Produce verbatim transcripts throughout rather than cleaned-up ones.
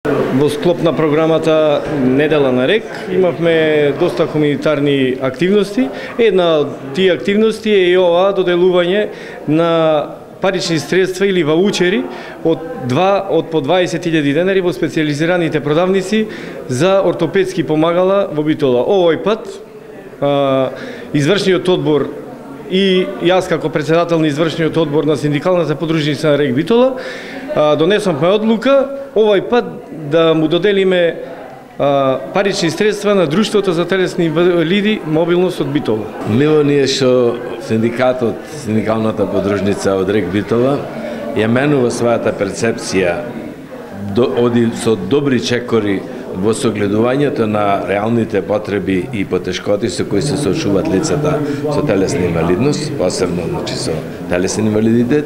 Во склоп на програмата Недела на РЕК имавме доста хуманитарни активности. Една од тие активности е и ова доделување на парични средства или ваучери од два од по дваесет илјади денари во специјализираните продавници за ортопедски помагала во Битола. Овој пат а, извршниот одбор и јас како председател на извршниот одбор на синдикалната подружница на РЕК Битола донесовме одлука овој пат да му доделиме а, парични средства на Друштвото за телесни инвалиди Мобилност од Битола. Мило ни е што синдикатот, синдикалната подружница од РЕК Битола ја менува својата перцепција, до, оди со добри чекори во согледувањето на реалните потреби и потешкоти со кои се соочуваат лицата со телесна инвалидност, посебно значи со телесен инвалидитет.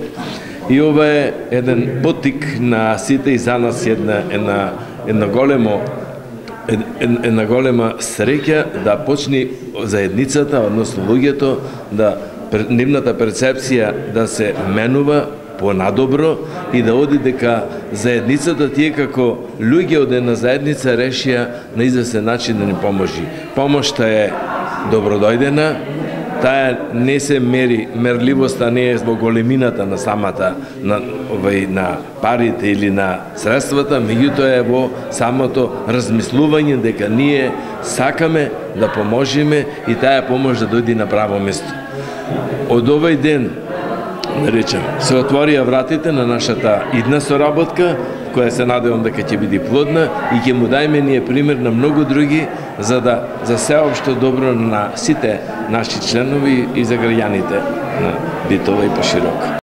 И ова е еден потик на сите и за нас една една една големо една голема среќа да почне заедницата, односно луѓето, да нивната перцепција да се менува понадобро и да оди дека заедницата тие како луѓе од една заедница решија на известен начин да ни поможи. Помошта е добродојдена, таа не се мери, мерливоста не е во големината на самата, на, овај, на парите или на средствата, меѓутоа е во самото размислување дека ние сакаме да поможиме и таа помош да дојде на право место. Од овој ден, наречем, се отворија вратите на нашата идна соработка, која се надевам дека ќе биде плодна и ќе му дајме ние пример на многу други за да за сеопшто добро на сите наши членови и за граѓаните на Битола и пошироко.